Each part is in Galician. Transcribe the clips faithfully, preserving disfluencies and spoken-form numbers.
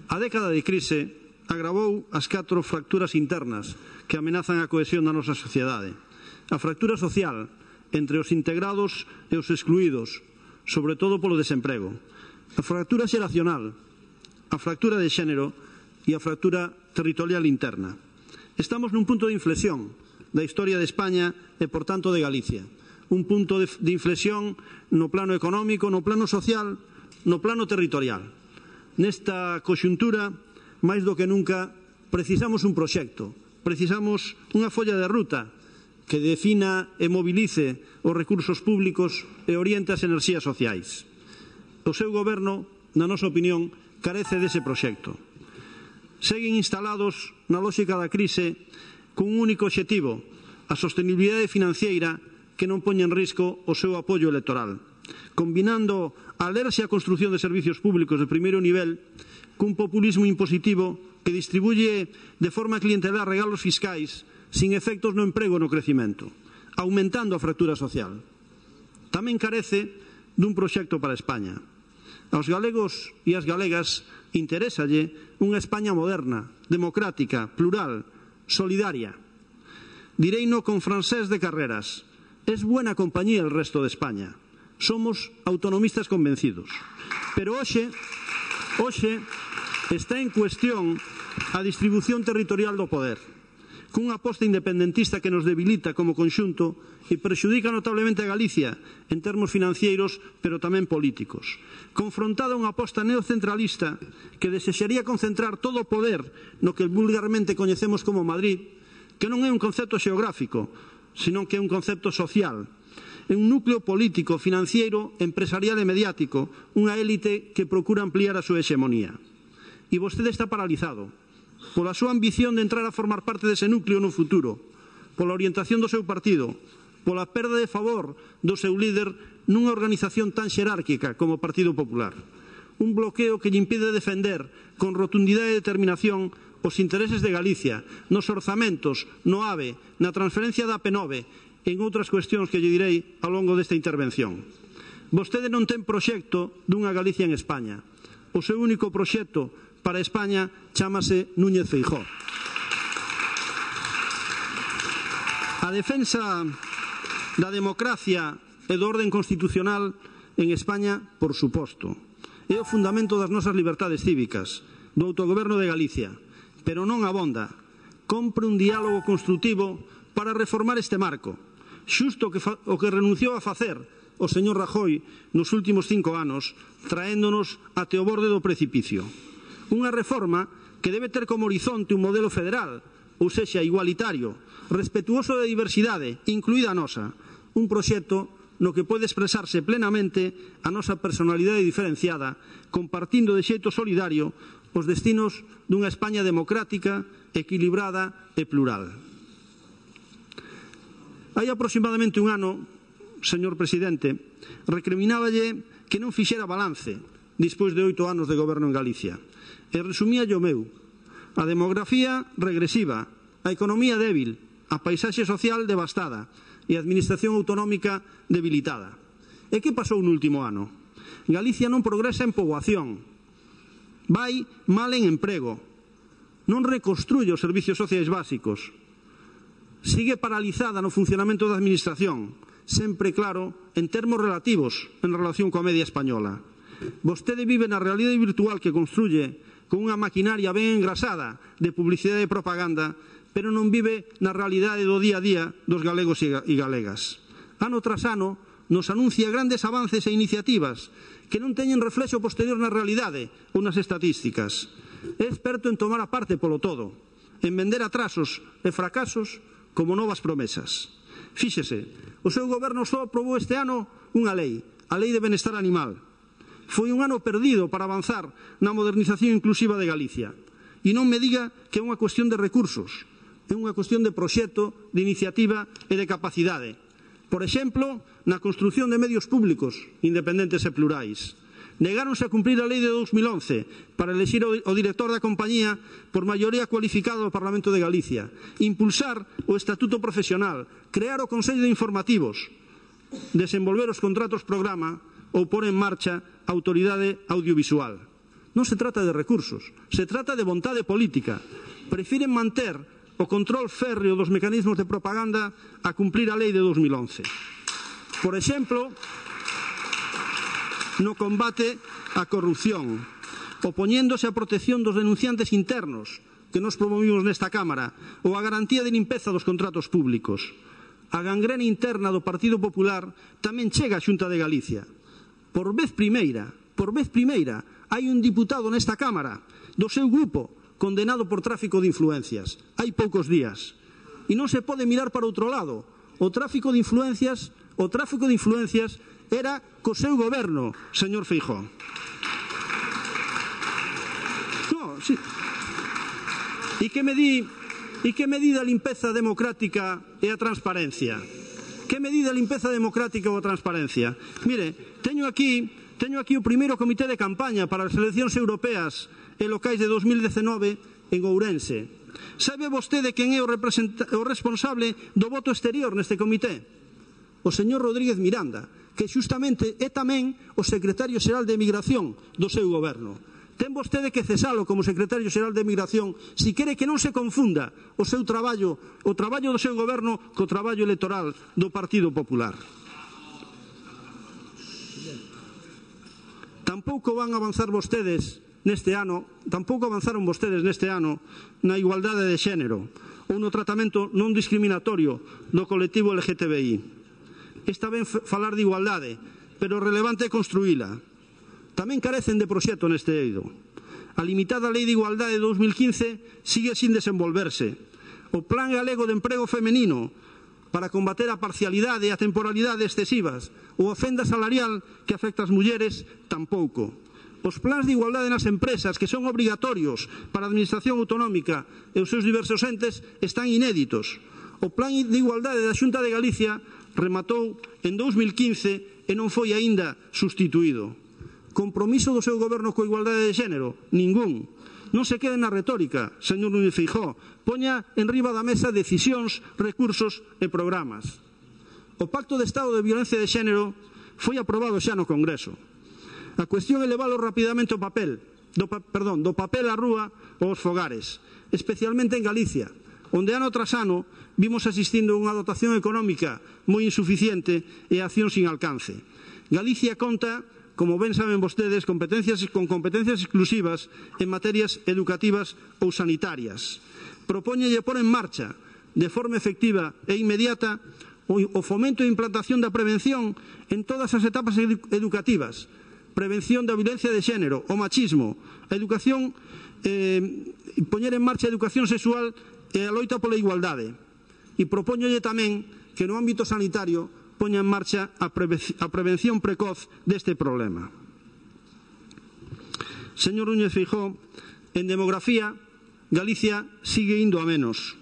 A década de crise agravou as catro fracturas internas que amenazan a cohesión da nosa sociedade. A fractura social entre os integrados e os excluídos, sobre todo polo desemprego. A fractura xeracional, a fractura de xénero e a fractura territorial interna. Estamos nun punto de inflexión da historia de España e, por tanto, de Galicia. Un punto de, de inflexión no plano económico, no plano social, no plano territorial. Nesta coxuntura, máis do que nunca, precisamos un proxecto, precisamos unha folla de ruta que defina e movilice os recursos públicos e oriente as enerxías sociais. O seu goberno, na nosa opinión, carece dese proxecto. Seguen instalados na lógica da crise con un único obxectivo, a sostenibilidade financiera que non poña en risco o seu apoio electoral, combinando a alerxia a construción de servicios públicos de primeiro nivel cun populismo impositivo que distribuye de forma clientelar regalos fiscais sin efectos no emprego e no crecimento, aumentando a fractura social. Tamén carece dun proxecto para España. Aos galegos e as galegas interésalle unha España moderna, democrática, plural, solidaria. Direino con Francés de Carreras: es buena compañía el resto de España. Somos autonomistas convencidos. Pero hoxe, hoxe está en cuestión a distribución territorial do poder, cunha aposta independentista que nos debilita como conxunto e prexudica notablemente a Galicia en termos financeiros, pero tamén políticos. Confrontada a unha aposta neocentralista que desexaría concentrar todo o poder no que vulgarmente coñecemos como Madrid, que non é un concepto xeográfico, senón que é un concepto social. É un núcleo político, financiero, empresarial e mediático, unha élite que procura ampliar a súa hexemonía. E vostede está paralizado pola súa ambición de entrar a formar parte dese núcleo no futuro, pola orientación do seu partido, pola perda de favor do seu líder nunha organización tan xerárquica como o Partido Popular. Un bloqueo que lle impide defender con rotundidade e determinación os intereses de Galicia, nos orzamentos, no AVE, na transferencia da A P nove, en outras cuestións que lle direi ao longo desta intervención. Vostede non ten proxecto dunha Galicia en España. O seu único proxecto para España chámase Núñez Feijóo. A defensa da democracia e do orden constitucional en España, por suposto, é o fundamento das nosas libertades cívicas, do autogoberno de Galicia, pero non abonda. Compre un diálogo construtivo para reformar este marco, xusto que fa, o que renunciou a facer o señor Rajoy nos últimos cinco anos, traéndonos até o borde do precipicio. Unha reforma que debe ter como horizonte un modelo federal, ou sexa, igualitario, respetuoso da diversidade, incluída a nosa, un proxecto no que pode expresarse plenamente a nosa personalidade diferenciada, compartindo de xeito solidario os destinos dunha España democrática, equilibrada e plural. Hai aproximadamente un ano, señor presidente, recrimináballe que non fixera balance despois de oito anos de goberno en Galicia. E resumía o meu: a demografía regresiva, a economía débil, a paisaxe social devastada e a administración autonómica debilitada. E que pasou no último ano? Galicia non progresa en poboación, vai mal en emprego, non reconstruye os servicios sociais básicos, sigue paralizada no funcionamento da administración, sempre claro en termos relativos en relación coa media española. Vostede vive na realidade virtual que construye con unha maquinaria ben engrasada de publicidade e propaganda, pero non vive na realidade do día a día dos galegos e galegas. Ano tras ano nos anuncia grandes avances e iniciativas que non teñen reflexo posterior na realidade ou nas estatísticas. É experto en tomar a parte polo todo, en vender atrasos e fracasos como novas promesas. Fíxese, o seu goberno só aprobou este ano unha lei, a Lei de Benestar Animal. Foi un ano perdido para avanzar na modernización inclusiva de Galicia. E non me diga que é unha cuestión de recursos, é unha cuestión de proxecto, de iniciativa e de capacidade. Por exemplo, na construción de medios públicos independentes e plurais. Negáronse a cumprir a lei de dous mil once para elexir o director da compañía por maioría cualificada do Parlamento de Galicia, impulsar o Estatuto Profesional, crear o Consello de Informativos, desenvolver os contratos programa ou pôr en marcha a Autoridade Audiovisual. Non se trata de recursos, se trata de vontade política. Prefiren manter o control férreo dos mecanismos de propaganda a cumplir a lei de dos mil once. Por exemplo, no combate á corrupción, opoñéndose á protección dos denunciantes internos que nos promovimos nesta Cámara, ou a garantía de limpeza dos contratos públicos. A gangrena interna do Partido Popular tamén chega á Xunta de Galicia. Por vez primeira, por vez primeira, hai un diputado nesta Cámara do seu grupo condenado por tráfico de influencias. Hai poucos días. E non se pode mirar para outro lado. O tráfico de influencias, o tráfico de influencias era co seu goberno, señor Feijóo. No, sí. E que me di... E que medida a limpeza democrática e a transparencia? Que medida a limpeza democrática ou a transparencia? Mire, teño aquí, teño aquí o primeiro comité de campaña para as eleccións europeas e locais de dos mil dezenove en Ourense. Sabe vostede quen é o, o responsable do voto exterior neste comité? O señor Rodríguez Miranda, que xustamente é tamén o secretario xeral de Migración do seu goberno. Ten vostede que cesalo como secretario xeral de Migración se quere que non se confunda o seu traballo, o traballo do seu goberno co traballo electoral do Partido Popular. Tampouco van avanzar vostedes neste ano, tampouco avanzaron vostedes neste ano na igualdade de xénero ou no tratamento non discriminatorio do colectivo L G T B I. Está ben falar de igualdade, pero relevante é construíla. Tamén carecen de proxecto neste eido. A limitada Lei de Igualdade de dos mil quince sigue sin desenvolverse. O Plan Galego de Emprego Femenino para combater a parcialidade e a temporalidade excesivas ou a fenda salarial que afecta as mulleres tampouco. Os plans de igualdade nas empresas que son obrigatorios para a Administración Autonómica e os seus diversos entes están inéditos. O Plan de Igualdade da Xunta de Galicia rematou en dos mil quince e non foi aínda sustituído. Compromiso do seu goberno coa igualdade de xénero? Ningún. Non se quede na retórica, señor Núñez Feijóo. Poña en riba da mesa decisións, recursos e programas. O Pacto de Estado de Violencia de Xénero foi aprobado xa no Congreso. A cuestión é levalo rapidamente ao papel, do, perdón, do papel á rúa aos fogares, especialmente en Galicia, onde ano tras ano vimos asistindo a unha dotación económica moi insuficiente e acción sin alcance. Galicia conta, como ben saben vostedes, competencias, con competencias exclusivas en materias educativas ou sanitarias. Propóñelle pôr en marcha, de forma efectiva e inmediata, o fomento e implantación da prevención en todas as etapas edu educativas. Prevención da violencia de xénero, o machismo, a educación, eh, poñer en marcha a educación sexual e a loita pola igualdade. E propóñolle tamén que no ámbito sanitario poña en marcha a, preve a prevención precoz deste problema. Señor Núñez Feijóo, en demografía, Galicia sigue indo a menos.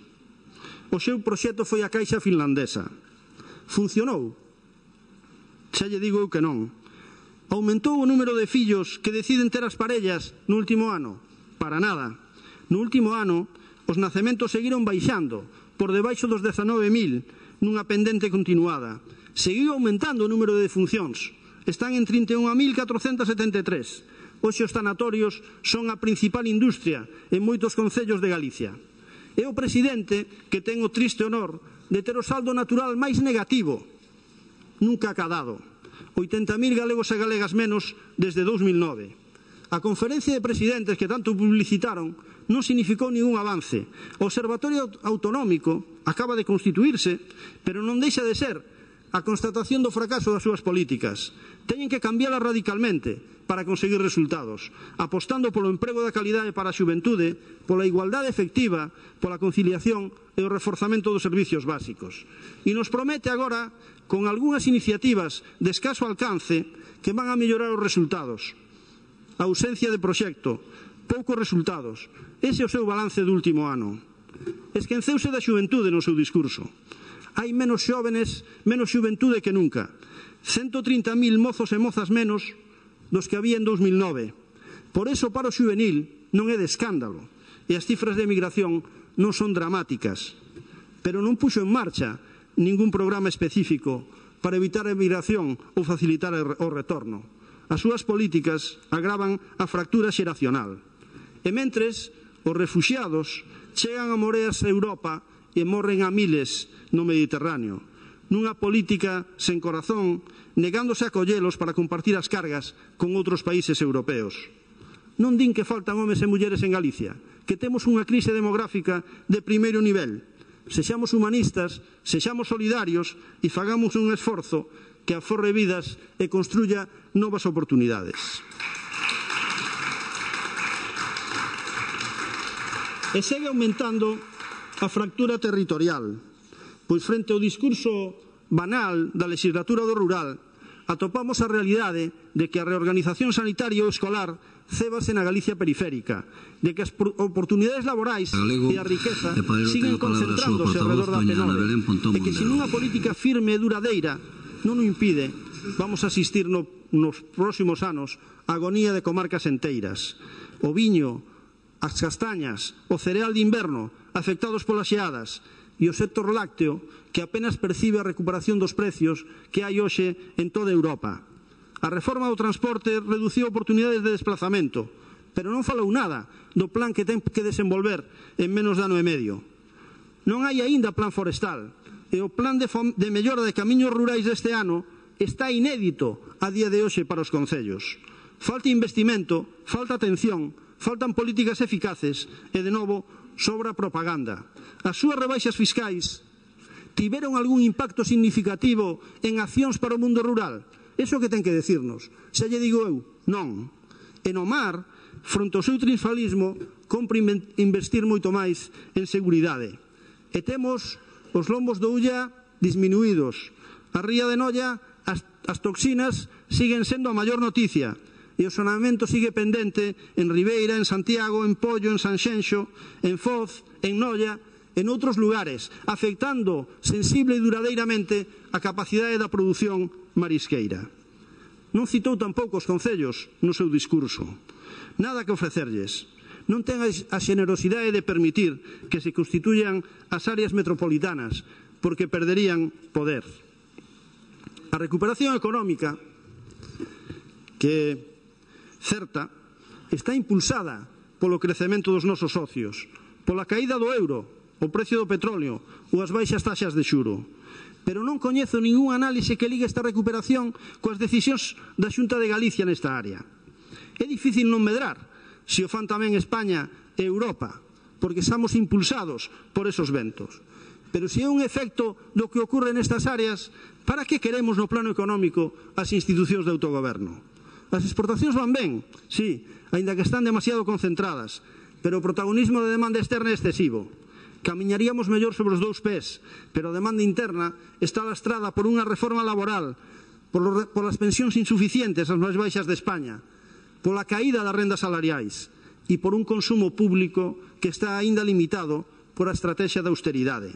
O seu proxecto foi a Caixa finlandesa. Funcionou? Xa lle digo eu que non. Aumentou o número de fillos que deciden ter as parellas no último ano? Para nada. No último ano, os nacementos seguiron baixando por debaixo dos dezanove mil nunha pendente continuada. Seguiu aumentando o número de defuncións. Están en trinta e un mil catrocentos setenta e tres. Hoxe os tanatorios son a principal industria en moitos concellos de Galicia. É o presidente que ten o triste honor de ter o saldo natural máis negativo nunca acadado. oitenta mil galegos e galegas menos desde dos mil nove. A conferencia de presidentes que tanto publicitaron non significou ningún avance. O Observatorio Autonómico acaba de constituirse, pero non deixa de ser a constatación do fracaso das súas políticas. Teñen que cambiálas radicalmente para conseguir resultados, apostando polo emprego da calidade para a xuventude, pola igualdade efectiva, pola conciliación e o reforzamento dos servicios básicos. E nos promete agora, con algunhas iniciativas de escaso alcance, que van a mellorar os resultados. A ausencia de proxecto, poucos resultados. Ese é o seu balance do último ano. Esquenceuse da xuventude no seu discurso. Hai menos xóvenes, menos xuventude que nunca. ciento trinta mil mozos e mozas menos dos que había en dos mil nove. Por eso o paro xuvenil non é de escándalo e as cifras de emigración non son dramáticas. Pero non puxo en marcha ningún programa específico para evitar a emigración ou facilitar o retorno. As súas políticas agravan a fractura xeracional. E mentres, os refuxiados chegan a moreas a Europa e morren a miles no Mediterráneo, nunha política sen corazón, negándose a collelos para compartir as cargas con outros países europeos. Non din que faltan homes e mulleres en Galicia, que temos unha crise demográfica de primeiro nivel. Sexamos humanistas, sexamos solidarios e fagamos un esforzo que aforre vidas e construya novas oportunidades. E segue aumentando a fractura territorial, pois frente ao discurso banal da legislatura do rural, atopamos a realidade de que a reorganización sanitaria ou escolar cébase na Galicia periférica, de que as oportunidades laborais e a riqueza siguen concentrándose alrededor da P nove, e que sin unha política firme e duradeira non o impide, vamos a asistir no, nos próximos anos a agonía de comarcas enteiras. O viño, as castañas, o cereal de inverno afectados polas xeadas e o sector lácteo que apenas percibe a recuperación dos precios que hai hoxe en toda Europa. A reforma do transporte reduciu oportunidades de desplazamento, pero non falou nada do plan que ten que desenvolver en menos de ano e medio. Non hai aínda plan forestal, e o plan de, de mellora de camiños rurais deste ano está inédito a día de hoxe para os concellos. Falta investimento, falta atención, faltan políticas eficaces e, de novo, sobra propaganda. As súas rebaixas fiscais tiveron algún impacto significativo en accións para o mundo rural? Iso que ten que decirnos. Se lle digo eu, non. E no mar, fronte ao seu triunfalismo, compre investir moito máis en seguridade. E temos os lombos do Ulla disminuídos. A ría de Noia, as, as toxinas siguen sendo a maior noticia. E o saneamento sigue pendente en Ribeira, en Santiago, en Pollo, en Sanxenxo, en Foz, en Noia, en outros lugares, afectando sensible e duradeiramente a capacidade da produción marisqueira. Non citou tampouco os concellos no seu discurso. Nada que ofrecerlles. Non ten a xenerosidade de permitir que se constituyan as áreas metropolitanas, porque perderían poder. A recuperación económica, que certa, está impulsada polo crecemento dos nosos socios, pola caída do euro, o precio do petróleo ou as baixas taxas de xuro. Pero non coñezo ningún análise que ligue esta recuperación coas decisións da Xunta de Galicia nesta área. É difícil non medrar se o fan tamén España e Europa, porque estamos impulsados por esos ventos. Pero se é un efecto do que ocorre nestas áreas, para que queremos no plano económico as institucións de autogoberno? As exportacións van ben, sí, aínda que están demasiado concentradas, pero o protagonismo de demanda externa é excesivo. Camiñaríamos mellor sobre os dous pés, pero a demanda interna está lastrada por unha reforma laboral, por, por as pensións insuficientes, as máis baixas de España, pola caída das rendas salariais e por un consumo público que está aínda limitado por a estrategia da austeridade.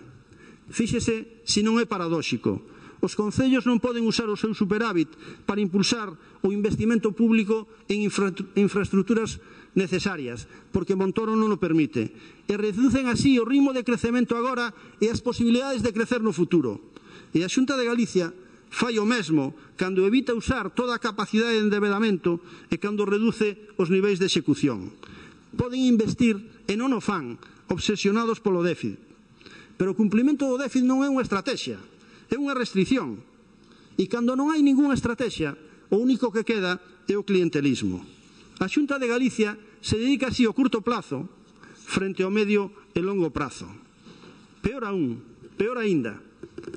Fíxese se non é paradóxico. Os concellos non poden usar o seu superávit para impulsar o investimento público en infra infraestructuras necesarias, porque Montoro non o permite. E reducen así o ritmo de crecemento agora e as posibilidades de crecer no futuro. E a Xunta de Galicia fai o mesmo cando evita usar toda a capacidade de endevedamento e cando reduce os niveis de execución. Poden investir e non o fan, obsesionados polo déficit. Pero o cumplimento do déficit non é unha estrategia, é unha restricción. E cando non hai ningunha estrategia, o único que queda é o clientelismo. A Xunta de Galicia se dedica así ao curto plazo frente ao medio e longo prazo. Peor aún, peor aínda,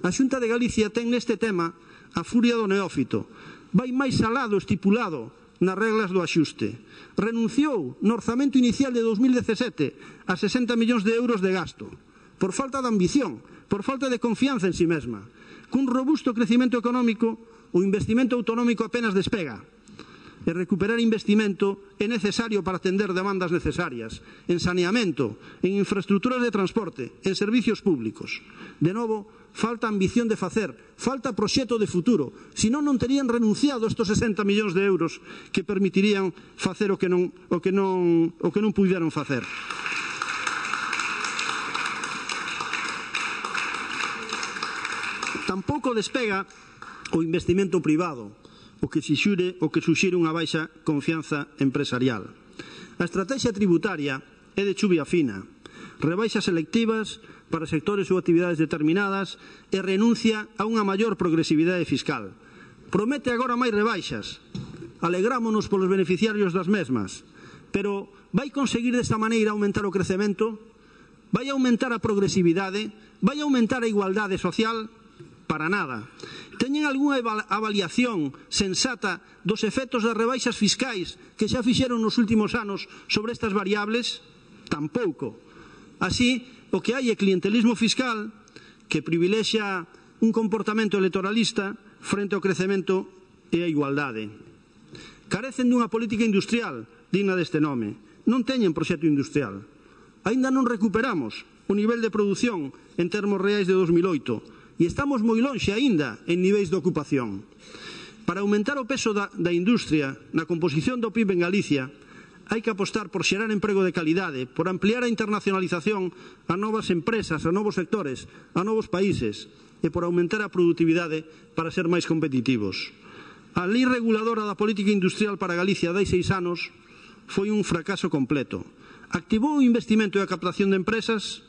a Xunta de Galicia ten neste tema a furia do neófito. Vai máis alá do estipulado nas reglas do axuste. Renunciou no orzamento inicial de dos mil dezasete a sesenta millóns de euros de gasto, por falta de ambición, por falta de confianza en si mesma. Cun robusto crecimento económico, o investimento autonómico apenas despega. E recuperar investimento é necesario para atender demandas necesarias en saneamento, en infraestructuras de transporte, en servicios públicos. De novo, falta ambición de facer, falta proxecto de futuro, senón non terían renunciado estos sesenta millóns de euros que permitirían facer o que non, o que non, o que non puderon facer. Tampouco despega o investimento privado. o que suxire, o que suxire unha baixa confianza empresarial. A estrategia tributaria é de chuvia fina, rebaixas selectivas para sectores ou actividades determinadas e renuncia a unha maior progresividade fiscal. Promete agora máis rebaixas, alegrámonos polos beneficiarios das mesmas, pero vai conseguir desta maneira aumentar o crecemento? Vai aumentar a progresividade? Vai aumentar a igualdade social? Para nada. Teñen algunha avaliación sensata dos efectos das rebaixas fiscais que xa fixeron nos últimos anos sobre estas variables? Tampouco. Así, o que hai é clientelismo fiscal que privilexia un comportamento electoralista frente ao crecemento e a igualdade. Carecen dunha política industrial digna deste nome. Non teñen proxecto industrial. Aínda non recuperamos o nivel de produción en termos reais de dos mil oito e estamos moi lonxe aínda en niveis de ocupación. Para aumentar o peso da, da industria na composición do P I B en Galicia, hai que apostar por xerar emprego de calidade, por ampliar a internacionalización a novas empresas, a novos sectores, a novos países e por aumentar a produtividade para ser máis competitivos. A lei reguladora da política industrial para Galicia de hai seis anos foi un fracaso completo. Activou o investimento e a captación de empresas?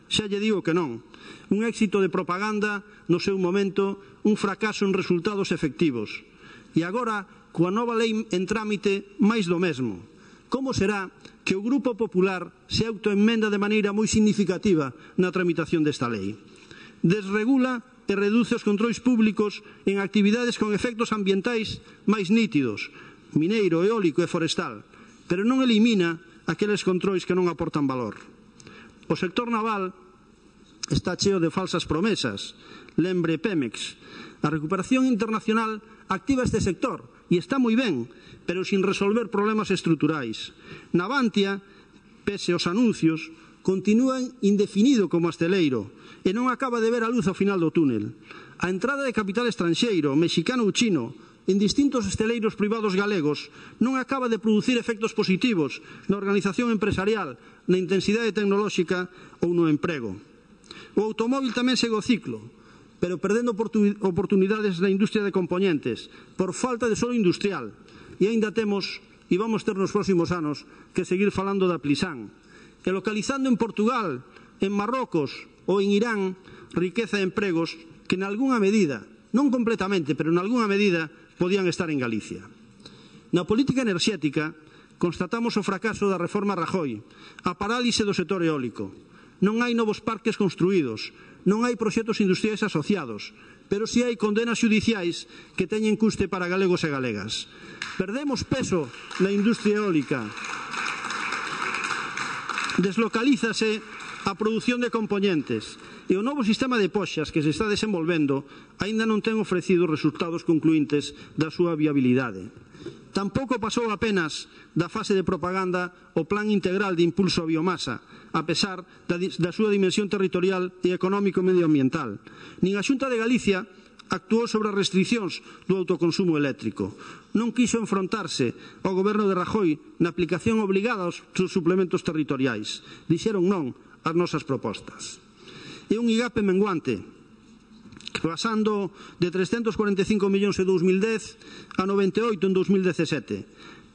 Xa lle digo que non. Un éxito de propaganda no seu momento, un fracaso en resultados efectivos. E agora, coa nova lei en trámite, máis do mesmo. Como será que o Grupo Popular se autoenmenda de maneira moi significativa na tramitación desta lei? Desregula e reduce os controis públicos en actividades con efectos ambientais máis nítidos, mineiro, eólico e forestal, pero non elimina aqueles controis que non aportan valor. O sector naval está cheo de falsas promesas. Lembre Pemex. A recuperación internacional activa este sector e está moi ben, pero sin resolver problemas estruturais. Navantia, pese aos anuncios, continúan indefinido como asteleiro e non acaba de ver a luz ao final do túnel. A entrada de capital estranxeiro, mexicano ou chino, en distintos esteleiros privados galegos non acaba de producir efectos positivos na organización empresarial, na intensidade tecnolóxica ou no emprego. O automóvil tamén segue o ciclo, pero perdendo oportunidades na industria de componentes por falta de solo industrial. E aínda temos, e vamos ter nos próximos anos, que seguir falando da Plisán, e localizando en Portugal, en Marrocos ou en Irán riqueza e empregos que en algunha medida, non completamente, pero en algunha medida, podían estar en Galicia. Na política enerxética constatamos o fracaso da reforma Rajoy, a parálise do sector eólico. Non hai novos parques construídos, non hai proxectos industriais asociados, pero si hai condenas xudiciais que teñen custe para galegos e galegas. Perdemos peso na industria eólica. Deslocalízase a produción de componentes e o novo sistema de poxas que se está desenvolvendo aínda non ten ofrecido resultados concluíntes da súa viabilidade. Tampouco pasou apenas da fase de propaganda o Plan Integral de Impulso a Biomasa, a pesar da, da súa dimensión territorial e económico-medioambiental. Nin a Xunta de Galicia actuou sobre as restriccións do autoconsumo eléctrico. Non quiso enfrontarse ao goberno de Rajoy na aplicación obligada aos suplementos territoriais. Dixeron non ás nosas propostas. É un IGAPE menguante, pasando de trescentos cuarenta e cinco millóns en dos mil dez a noventa e oito en dos mil dezasete,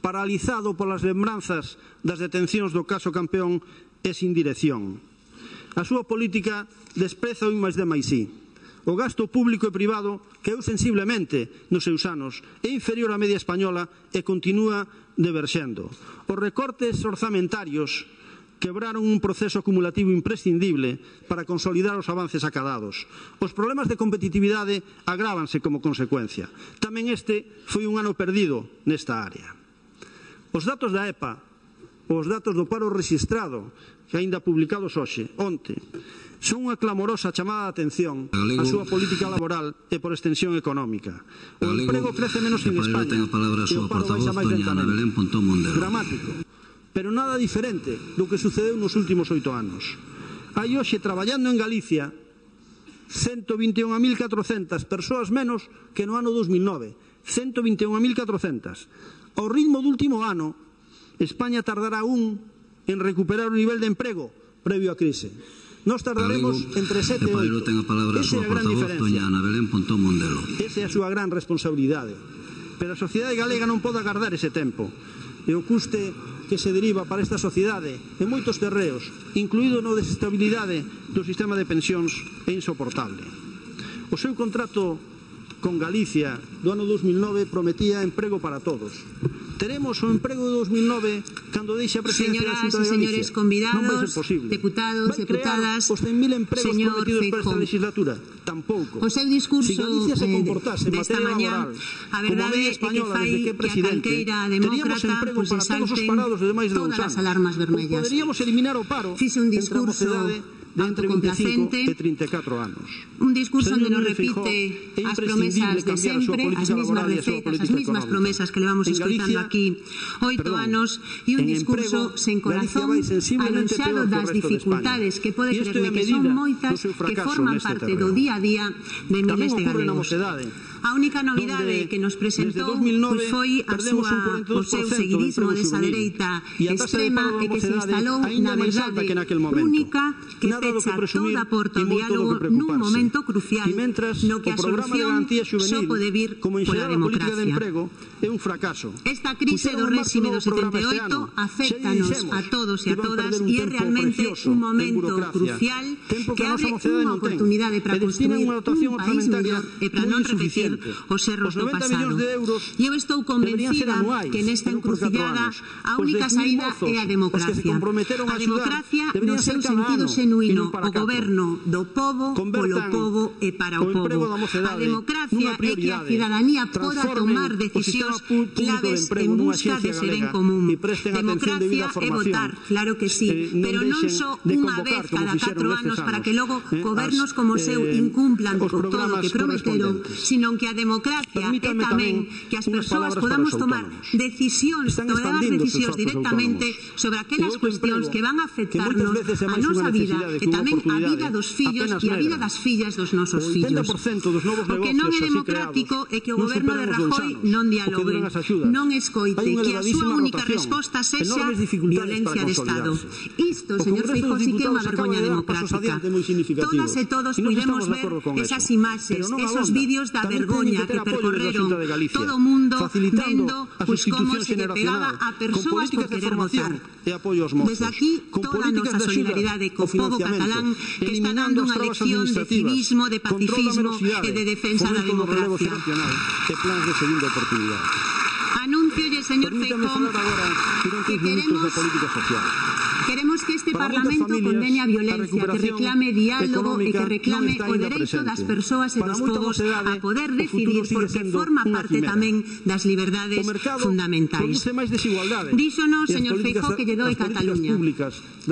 paralizado polas lembranzas das detencións do caso Campeón e sin dirección. A súa política despreza o I máis D máis I. O gasto público e privado caeu sensiblemente nos seus anos, é inferior á media española e continúa diverxendo. Os recortes orzamentarios quebraron un proceso acumulativo imprescindible para consolidar os avances acadados. Os problemas de competitividade agrávanse como consecuencia. Tamén este foi un ano perdido nesta área. Os datos da E P A, os datos do paro rexistrado, que aínda publicados hoxe, onte, son unha clamorosa chamada de atención á súa política laboral e por extensión económica. O emprego crece menos en España e o paro baixa máis lentamente. Dramático, pero nada diferente do que sucedeu nos últimos oito anos. Hai hoxe traballando en Galicia ciento vinte e un mil catrocentas persoas menos que no ano dos mil nove. ciento vinte e un mil catrocentas. Ao ritmo do último ano, España tardará un en recuperar o nivel de emprego previo á crise. Nos tardaremos entre sete e oito. Esa é a gran diferencia. Esa é a súa gran responsabilidade. Pero a sociedade galega non pode agardar ese tempo. E o custe que se deriva para esta sociedade en moitos terreos, incluído no desestabilidade do sistema de pensións, é insoportable. O seu contrato con Galicia do ano dos mil nove prometía emprego para todos. Teremos o emprego de dos mil nove cando deixe a presidencia da Xunta de Galicia. Señoras e señores convidados, non vai ser posible. deputados, vai deputadas, crear os cen mil empregos prometidos para esta legislatura? Tampouco. O seu discurso si Galicia se comportase en materia mañá, laboral a como a media española desde que é presidente, teríamos emprego pues, para todos os parados de máis de dous anos. Ou poderíamos eliminar o paro Fixe un discurso de entre vinte e cinco e trinta e catro anos. Un discurso onde nos repite as promesas de sempre, as mesmas receitas, as mesmas promesas que levamos escoitando aquí oito anos, e un discurso sen corazón, anunciado das dificultades que pode creerme que son moitas, que forman parte do día a día de miles de galegos. A única novidade que nos presentou pois foi a súa, o seu seguidismo desa dereita extrema e que se instalou na verdade única que pecha toda porta ao diálogo nun momento crucial no que a solución só pode vir pola democracia. Esta crise do réxime do setenta e oito aféctanos a todos e a todas e é realmente un momento crucial que abre unha oportunidade para construir un país mellor e para non repetir os erros do pasado. E eu estou convencida que nesta encrucillada a única saída é a democracia. A democracia no seu sentido xenuíno, o goberno do pobo, polo pobo e para o pobo. A democracia é que a cidadanía poda tomar decisións claves en busca dese ben común. Democracia é votar, claro que sí, pero non só unha vez cada catro anos para que logo gobernos como o seu incumplan con todo o que prometeron, sino que a democracia é tamén que as persoas podamos tomar decisións, tomar decisións directamente sobre aquelas cuestións que van a afectarnos a nosa vida e tamén a vida dos fillos e a vida das fillas dos nosos fillos. O que non é democrático é que o goberno de Rajoy non dialogue, non escoite, que a súa única resposta sexa violencia de Estado. Isto, señor Feijóo, sí que é unha vergoña democrática. Todas e todos podemos ver esas imaxes, esos vídeos da vergoña que percorreron todo o mundo vendo pues, como se le pegaba a persoas por querer votar. Desde aquí, toda a nosa solidaridade co povo catalán que está dando unha lección de civismo, de pacifismo e de defensa da democracia. Anúnciolle, señor Feijóo, que queremos Queremos que este Parlamento condene a violencia, que reclame diálogo e que reclame o dereito das persoas e dos povos a poder decidir porque forma parte tamén das liberdades fundamentais. Díxonos, señor Feijóo, que lle doi Cataluña.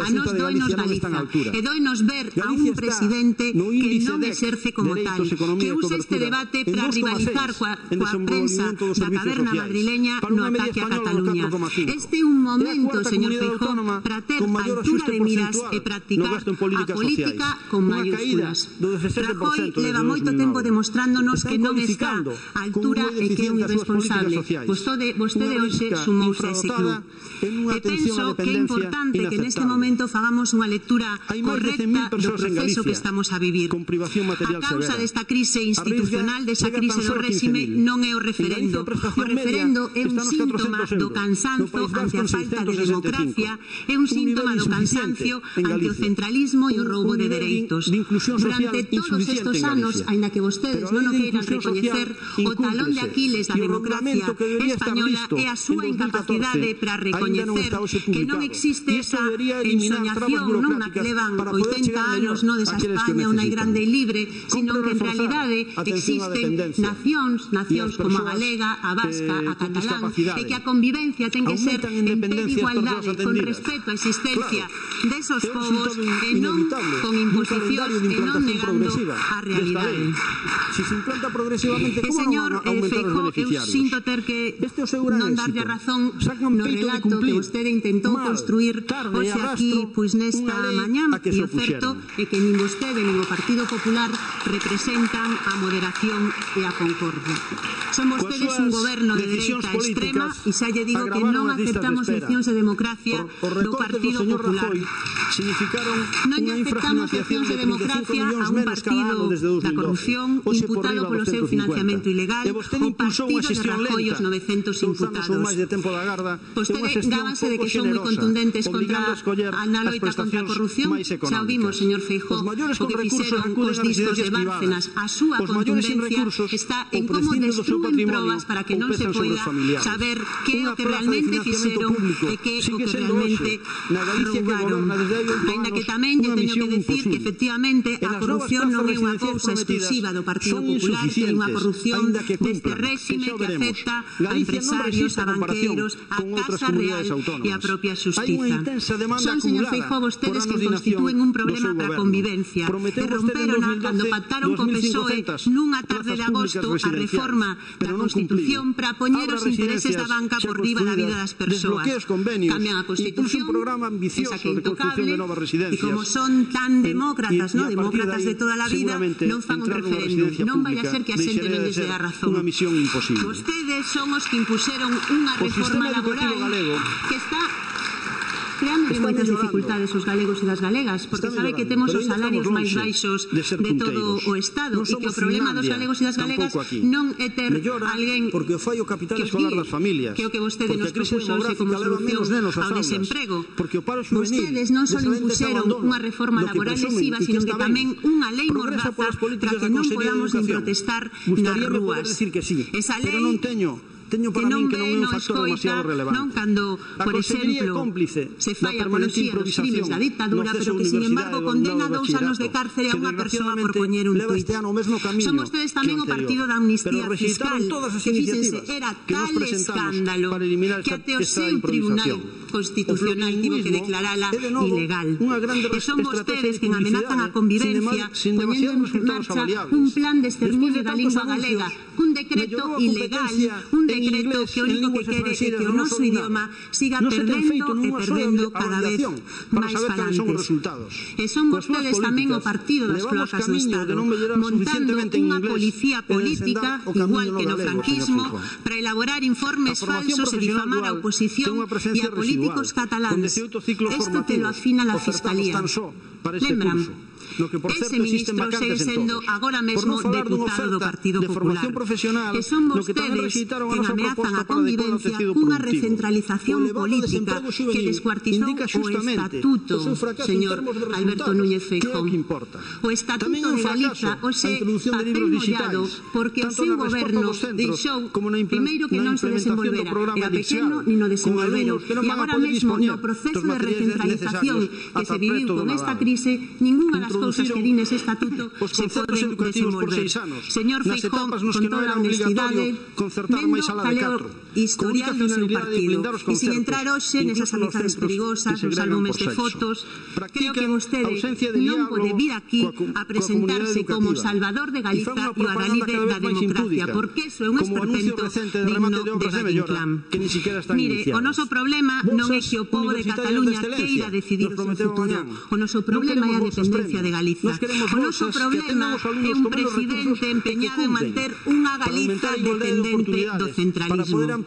A nos doinos Galiza. E doinos ver a un presidente que non exerce como tal, que usa este debate para rivalizar coa, coa prensa da caverna madrileña no ataque a Cataluña. Este é un momento, señor Feijóo, para ter altura de miras e practicar a política con mayúsculas. Rajoy leva moito tempo demostrándonos que non está a altura e que é un irresponsable. Vostede hoxe sumouse a ese club. E penso que é importante que neste momento fagamos unha lectura correcta do proceso que estamos a vivir. A causa desta crise institucional, desa crise do réxime, non é o referendo. O referendo é un síntoma do cansanzo ante a falta de democracia, é un síntoma do cansancio ante o centralismo e o roubo de dereitos. Durante todos estes anos, aínda que vostedes non o queiran recoñecer, o talón de Aquiles da democracia española é a súa incapacidade para recoñecer que non existe esa ensoñación non na que levan oitenta anos no desa España unha grande e libre, sino que en realidade existen nacións, nacións como a galega, a vasca, a catalán, e que a convivencia ten que ser en pé de igualdade, con respeto á existencia desos povos e non con imposicións e non negando a realidade. E señor Feijóo, eu sinto ter que non darlle razón no relato que vostede intentou construir hoxe aquí, pois nesta mañá, e o certo é que nin vostede nin o Partido Popular representan a moderación e a concordia. Son vostedes un goberno de dereita extrema e xa lle digo que non aceptamos leccións de democracia do Partido Partido Popular. Non lle aceptamos leccións de democracia a un partido da corrupción imputado polo seu financiamento ilegal, o partido de Rajoy os novecentos imputados. Vostede gábanse de que son moi contundentes contra a loita contra a corrupción. Xa o vimos, señor Feijóo, o que fixeron os discos de Bárcenas. A súa contundencia está en como destruen probas para que non se poida saber que é o que realmente fixeron e que é o que realmente roubaron. Ainda que tamén lle teño que decir que efectivamente a corrupción non é unha cousa exclusiva do Partido Popular, que é unha corrupción deste réxime que afecta a empresarios, a banqueiros, a Casa Real e a propia Xustiza. Son, señor Feijóo, vostedes que constitúen un problema para a convivencia e romperona cando pactaron co P S O E nunha tarde de agosto a reforma da Constitución para poñer os intereses da banca por riba da vida das persoas. Cambian a Constitución, esa que é intocable, e como son tan demócratas, no demócratas de toda a vida, non fan un referéndum. Non vai a ser que a xente non lles dé a razón. Vostedes son os que impuxeron unha reforma laboral que está creando moitas dificultades aos galegos e das galegas, porque sabe que temos os salarios máis baixos de todo o Estado e que o problema dos galegos e das galegas non é ter alguén que os guíe, que o que vostede nos propuxo como solución ao desemprego. Vostedes non só impuxeron unha reforma laboral lesiva, sino que tamén unha lei mordaza para que non podamos nin protestar nas rúas. Esa lei que non ve, non escoita, non cando, por exemplo, se fai apoloxía dos crimes da dictadura, pero que, sin embargo, condena dous anos de cárcere a unha persoa por poñer un tuit. Son vostedes tamén o partido da amnistía fiscal, que, fíxense, era tal escándalo que até o seu tribunal constitucional tivo que declarala ilegal. E son vostedes que amenazan a convivencia poñendo en marcha un plan de exterminio da lingua galega, un decreto ilegal, un decreto que o único que quere é que o noso idioma siga perdendo e perdendo cada vez máis falantes. E son vostedes tamén o partido das cloacas do Estado, montando unha policía política, igual que no franquismo, para elaborar informes falsos e difamar a oposición e a políticos cataláns. Isto te lo afina la Fiscalía. Lembran? Ese ministro segue sendo agora mesmo deputado do Partido Popular. Que son vostedes que ameazan a convivencia cunha recentralización política que descuartizou o Estatuto, señor Alberto Núñez Feijóo. O Estatuto de Galiza, hoxe, papel mollado, porque o seu goberno deixou, primeiro, que non se desenvolvera, era pequeno ni no desenvolvero, e agora mesmo no proceso de recentralización que se viviu con esta crise, ninguna das cousas que din ese estatuto se poden desenvolver. Señor Feijóo, con toda a honestidade, vendo caleo historial do seu partido, e sin entrar hoxe nesas amizades perigosas, nos álbumes de fotos, creo que vostede non pode vir aquí a presentarse como salvador de Galiza e o adalide da democracia, porque iso é un esperpento digno de Valle-Inclán. Mire, o noso problema non é que o pobo de Cataluña queira decidir o seu futuro, o noso problema é a dependencia de Galiza. O noso problema é un presidente empeñado en manter unha Galiza dependente do centralismo.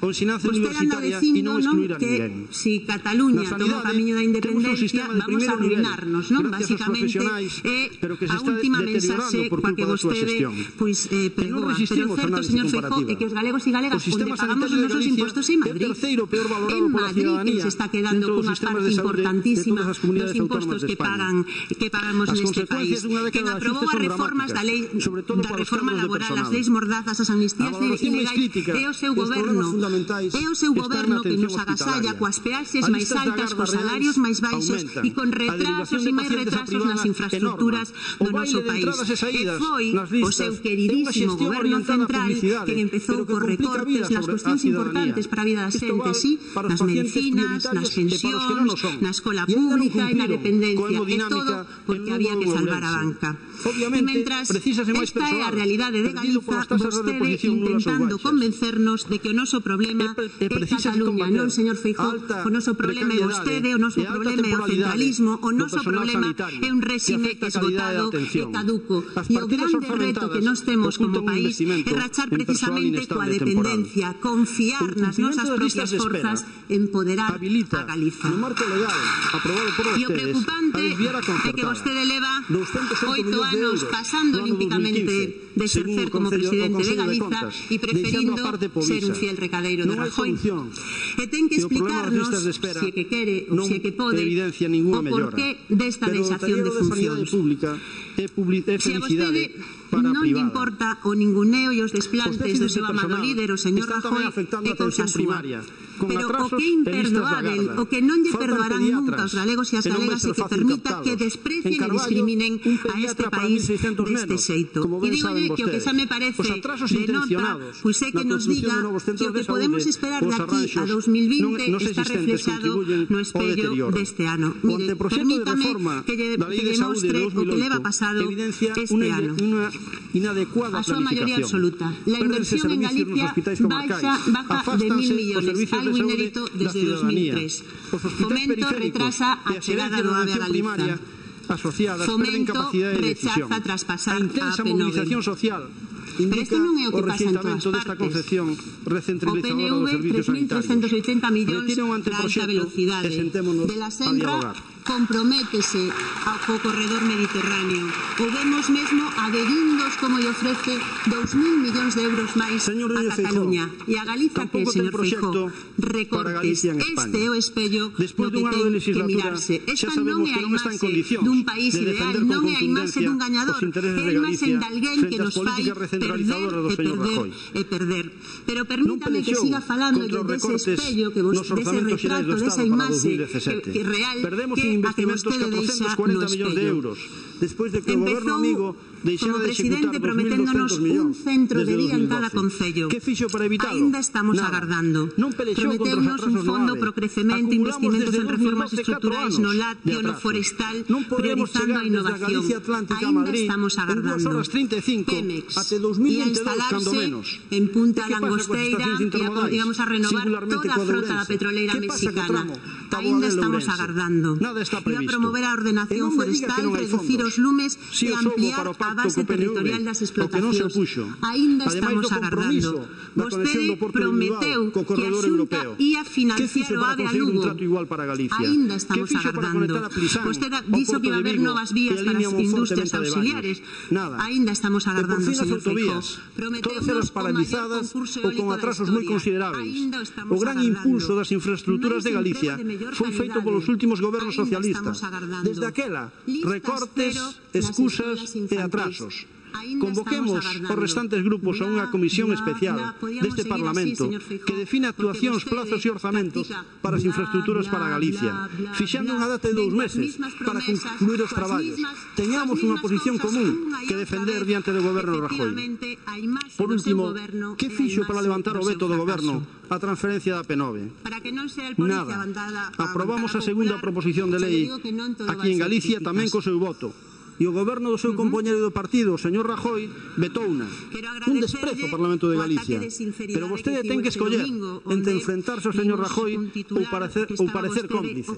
Vostede anda dicindo, non, que si Cataluña toma o camiño da independencia vamos a arruinarnos, non? Basicamente é a última mensaxe coa que vostede pois pregoa. Pero o certo, señor Feijóo, é que os galegos e galegas onde pagamos os nosos impostos en Madrid, en Madrid que se está quedando cunha parte importantísima dos impostos que pagan que pagamos neste país. Quen aprobou as reformas da lei da reforma laboral, as leis mordazas, as amnistías ilegais, é o seu goberno. É o seu goberno que nos agasalla coas peaxes máis altas, cos salarios máis baixos e con retrasos e máis retrasos nas infraestructuras do noso país. E foi o seu queridísimo goberno central que empezou cos recortes nas cuestións importantes para a vida da xente, sí, nas medicinas, nas pensións, na escola pública e na dependencia, e todo porque había que salvar a banca. E mentras esta é a realidade de Galiza, vostede intentando convencernos de que o noso problema problema é Cataluña, non, señor Feijóo, o noso problema é vostede, o noso problema é o centralismo, o noso problema é un réxime esgotado e caduco. E o grande reto que nós temos como país é rachar precisamente coa dependencia, confiar nas nosas propias forzas, empoderar a Galiza. E o preocupante é que vostede leva oito anos pasando olímpicamente de exercer como presidente de Galiza e preferindo ser un fiel recadeiro de Rajoy. E ten que explicarnos, se é que quere ou se é que pode, o porqué desta deixación de funcións. Se a vostede non lle importa o ninguneo e os desplantes do seu amado líder, o señor Rajoy, é cousa súa. Pero o que é imperdoável, o que non lle perdoarán nunca os galegos e as galegas é que permita que desprecien e discriminen a este país deste xeito. E dígolle que o que xa me parece de nota, pois é que nos diga que o que podemos esperar de aquí a dos mil vinte está reflexado no espello deste ano. Mire, permítame que lle demostre o que leva pasado este ano. A súa maioría absoluta. La inversión en Galicia baixa, baja de mil millones, algo inédito desde dos mil tres. Fomento retrasa a chegada do AVE a Galiza. Fomento rechaza traspasar a A P nove. Pero isto non é o que pasa en todas partes. O P N V, tres mil trescentos oitenta millóns para alta velocidade. De la Senra comprométese ao corredor mediterráneo. O vemos mesmo a dedindos como lle ofrece dous mil millóns de euros máis a Cataluña. E a Galiza que, señor Feijóo, recortes. Este é o espello no que ten que mirarse. Esta non é a imaxe dun país ideal, non é a imaxe dun gañador, é a imaxe de alguén que nos fai perder e perder e perder. Pero permítame que siga falando dese espello, dese retrato, desa imaxe real que a que vostede deixa no espello. Empezou como presidente prometéndonos un centro de día en cada concello. Ainda estamos agardando. Prometeunos un fondo pro crecemento, investimentos en reformas estruturais no lácteo, no forestal, priorizando a innovación. Ainda estamos agardando. Pemex ia instalarse en Punta Langosteira e íamos a renovar toda a frota da petroleira mexicana. Ainda estamos agardando. Ia promover a ordenación forestal, reducir os lumes e ampliar a base territorial das explotacións. Ainda estamos agardando. Vostede prometeu que a Xunta ia financiar o AVE a Lugo. Ainda estamos agardando. Vostede dixo que iba a haber novas vías para as industrias auxiliares. Ainda estamos agardando, señor Feijóo. Todas paralizadas ou con atrasos moi consideráveis. O gran impulso das infraestructuras de Galicia foi feito polos últimos gobernos socialistas. Desde aquela, recortes, excusas e atrasos. Convoquemos os restantes grupos a unha comisión especial deste Parlamento que define actuacións, plazos e orzamentos para as infraestructuras para Galicia, fixando unha data de dous meses para concluir os traballos. Teñamos unha posición común que defender diante do goberno Rajoy. Por último, que fixo para levantar o veto do goberno a transferencia da P nove? Nada. Aprobamos a segunda proposición de lei aquí en Galicia tamén co seu voto. E o goberno do seu compañeiro do partido, o señor Rajoy, vetouna. Un desprezo ao Parlamento de Galicia. Pero vostede ten que escoller entre enfrentarse ao señor Rajoy ou parecer, ou parecer cómplice.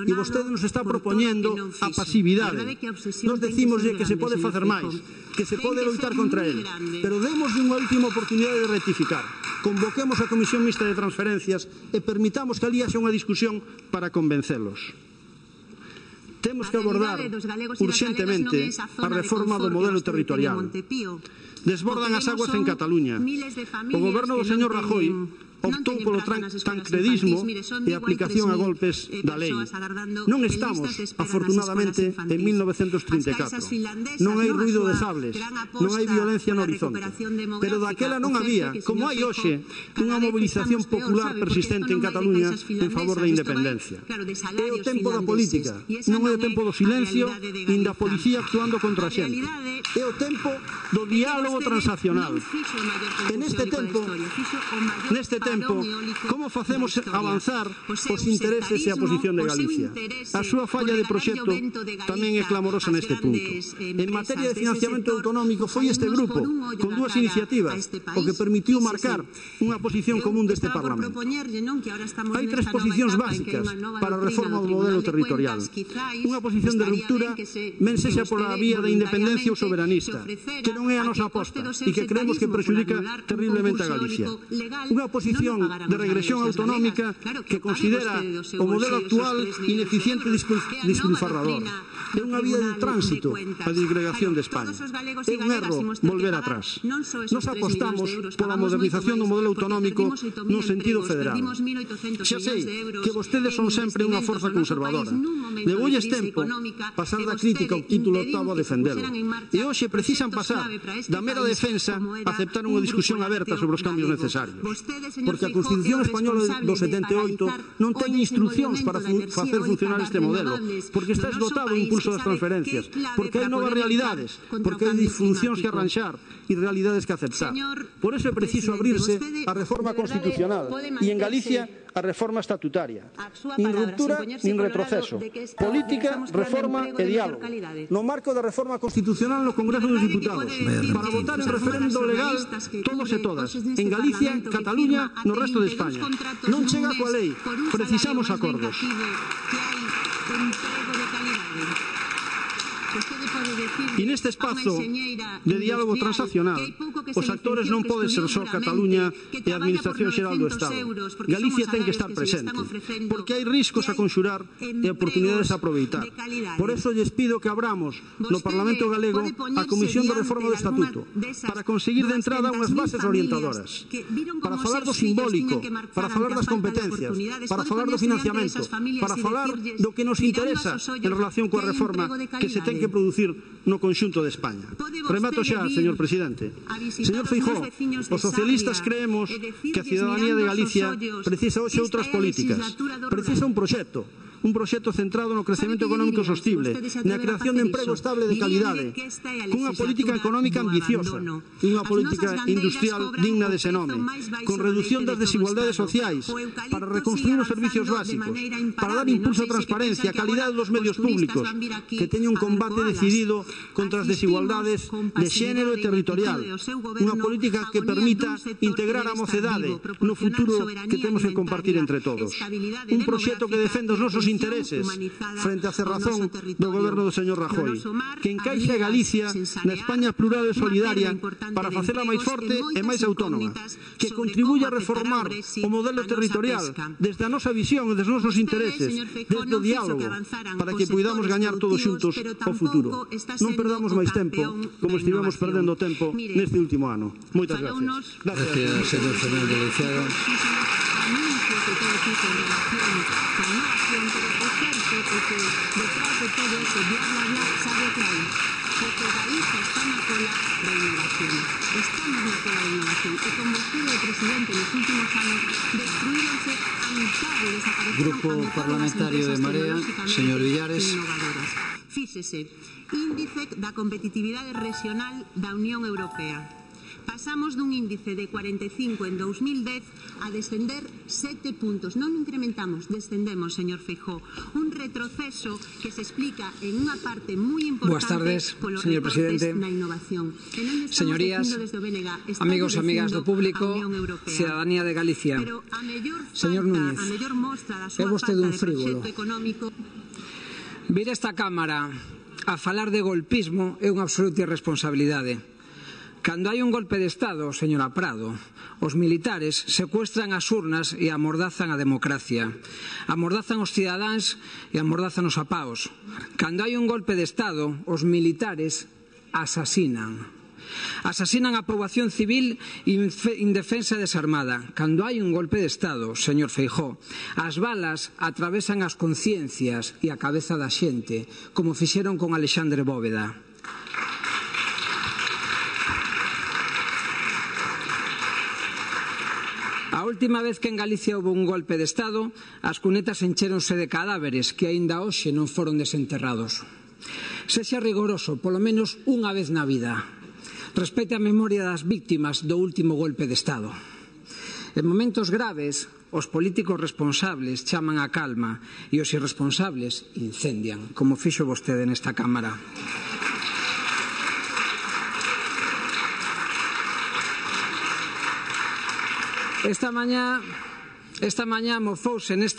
E vostede nos está propoñendo a pasividade. Nos decimoslle que se pode facer máis, que se pode loitar contra ele. Pero demos unha última oportunidade de rectificar. Convoquemos a Comisión Mixta de Transferencias e permitamos que ali haxa unha discusión para convencelos. Temos que abordar urxentemente a reforma do modelo territorial. Desbordan as aguas en Cataluña. O goberno do señor Rajoy optou polo tancredismo e aplicación a golpes da lei. Non estamos, afortunadamente, en mil novecentos trinta e catro. Non hai ruido de sables, non hai violencia no horizonte. Pero daquela non había, como hai hoxe, unha mobilización popular persistente en Cataluña en favor da independencia. É o tempo da política, non é o tempo do silencio nin da policía actuando contra a xente. É o tempo do diálogo transaccional. En este tempo, neste tempo, tempo, como facemos avanzar os intereses e a posición de Galicia? A súa falla de proxecto tamén é clamorosa neste punto. En materia de financiamento autonómico foi este grupo, con dúas iniciativas, o que permitiu marcar unha posición común deste Parlamento. Hai tres posicións básicas para a reforma do modelo territorial. Unha posición de ruptura, men sexa pola vía da independencia ou soberanista, que non é a nosa aposta e que creemos que perxudica terriblemente a Galicia. Unha posición de regresión autonómica que considera o modelo actual ineficiente e despilfarrador. É unha vía de tránsito a disgregación de España. É un erro volver atrás. Nos apostamos pola modernización do modelo autonómico nun sentido federal. Xa sei que vostedes son sempre unha forza conservadora. Debulles tempo pasar da crítica ao título octavo a defendelo. E hoxe precisan pasar da mera defensa a aceptar unha discusión aberta sobre os cambios necesarios. Porque a Constitución Española do setenta e oito non ten instruccións para facer funcionar este modelo, porque está esgotado o impulso das transferencias, porque hai novas realidades, porque hai disfuncións que arranxar e realidades que aceptar. Por eso é preciso abrirse a reforma constitucional e en Galicia a reforma estatutaria. Nin ruptura, nin retroceso. Política, reforma e diálogo. No marco da reforma constitucional no Congreso dos Diputados, para votar en referendo legal todos e todas, en Galicia, Cataluña, no resto de España. Non chega coa lei, precisamos acordos. E neste espazo de diálogo transaccional, os actores non poden ser só Cataluña e a Administración Xeral do Estado. Galicia ten que estar presente, porque hai riscos a conxurar e oportunidades a aproveitar. Por eso lles pido que abramos no Parlamento Galego a Comisión de Reforma do Estatuto, para conseguir de entrada unhas bases orientadoras, para falar do simbólico, para falar das competencias, para falar do financiamento, para falar do que nos interesa en relación coa reforma que se ten que producir no conxunto de España. Remato xa, señor presidente. Señor Feijóo, os socialistas creemos que a cidadanía de Galicia precisa hoxe outras políticas. Precisa un proxecto. Un proxecto centrado no crecemento económico sostible, na creación de emprego estable de calidade, cunha política económica ambiciosa e unha política industrial digna de ese nome, con reducción das desigualdades sociais, para reconstruir os servicios básicos, para dar impulso á transparencia, a calidade dos medios públicos, que teña un combate decidido contra as desigualdades de xénero e territorial, unha política que permita integrar a mocedade no futuro que temos que compartir entre todos. Un proxecto que defenda os nosos intereses frente á cerrazón do goberno do señor Rajoy, que encaixe a Galicia na España plural e solidaria para facela máis forte e máis autónoma, que contribuya a reformar o modelo territorial desde a nosa visión e desde os nosos intereses, desde o diálogo, para que poidamos gañar todos xuntos o futuro. Non perdamos máis tempo como estivemos perdendo tempo neste último ano. Moitas gracias. Gracias, señor Fernández Leizaga. Que todo tipo en relación con la innovación, pero o certo é que detrás de todo ese bla bla bla sabe que hai, porque Galicia está na cola da innovación, estamos na cola da innovación, e como vostede, presidente, nos últimos anos destruíronse a mitad e desapareceron Grupo Parlamentario de Marea, señor Villares. Fíxese, índice da competitividade regional da Unión Europea. Pasamos dun índice de cuarenta e cinco en dos mil dez a descender sete puntos. Non incrementamos, descendemos, señor Feijóo. Un retroceso que se explica en unha parte moi importante polos recortes na innovación. Señorías, amigos e amigas do público, cidadanía de Galicia. Señor Núñez, é vostede un frívolo. Vir esta Cámara a falar de golpismo é unha absoluta irresponsabilidade. Cando hai un golpe de Estado, señora Prado, os militares secuestran as urnas e amordazan a democracia. Amordazan os cidadáns e amordazan os apaos. Cando hai un golpe de Estado, os militares asasinan. Asasinan a poboación civil indefensa e desarmada. Cando hai un golpe de Estado, señor Feijóo, as balas atravesan as conciencias e a cabeza da xente, como fixeron con Alexandre Bóveda. A última vez que en Galicia houve un golpe de Estado, as cunetas enchéronse de cadáveres que aínda hoxe non foron desenterrados. Sexa rigoroso, polo menos unha vez na vida. Respete a memoria das víctimas do último golpe de Estado. En momentos graves, os políticos responsables chaman a calma e os irresponsables incendian, como fixo vostede nesta Cámara. Esta mañá, esta mañá mofouse nesta